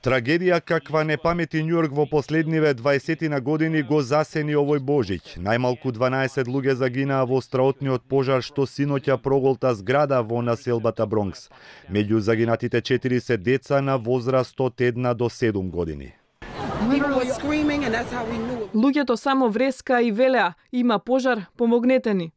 Трагедија каква не памети Њујорк во последниве 20 на години го засени овој Божиќ. Најмалку 12 луѓе загинаа во страотниот пожар што синоќа проголта зграда во населбата Бронкс. Меѓу загинатите 4 се деца на возраст од 1 до 7 години. Луѓето само вреска и велеа, има пожар, помогнете ни.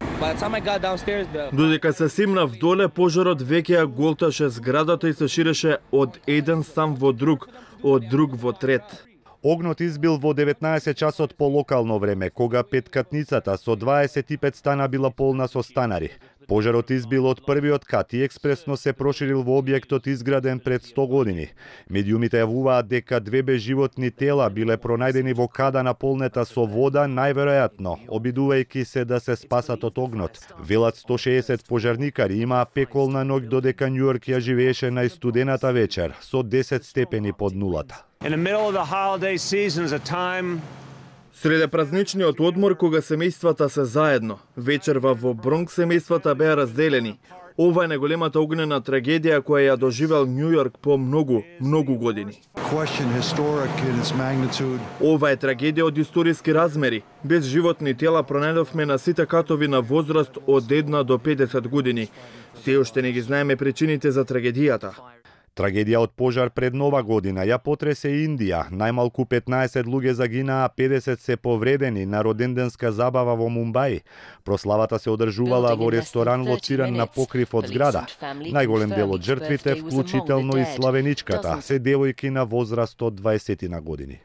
Додека се симнав доле, пожарот веќе ја голташе зградата и се ширеше од еден стан во друг, од друг во трет. Огнот избил во 19 часот по локално време, кога петкатницата со 25 стана била полна со станари. Пожарот избил од првиот кат и експресно се проширил во објектот изграден пред 100 години. Медиумите јавуваат дека 2 безживотни тела биле пронајдени во када наполнета со вода, најверојатно, обидувајќи се да се спасат од огнот. Велат 160 пожарникари имаа пеколна ноќ додека Њујорк ја живееше најстудената вечер со 10 степени под нулата. Среде празничниот одмор, кога семејствата се заедно, вечерва во Бронкс семејствата беа разделени. Ова е најголемата огнена трагедија која ја доживел Њујорк по многу години. Ова е трагедија од историски размери. Без животни тела пронајдовме на сите катови на возраст од 1 до 50 години. Се уште не ги знаеме причините за трагедијата. Трагедија од пожар пред Нова година ја потресе Индија. Најмалку 15 луѓе загинаа, 50 се повредени на роденденска забава во Мумбај. Прославата се одржувала во ресторан лоциран на покрив од зграда. Најголем дел од жртвите, вклучително и славеничката, се девојки на возраст од 20 на години.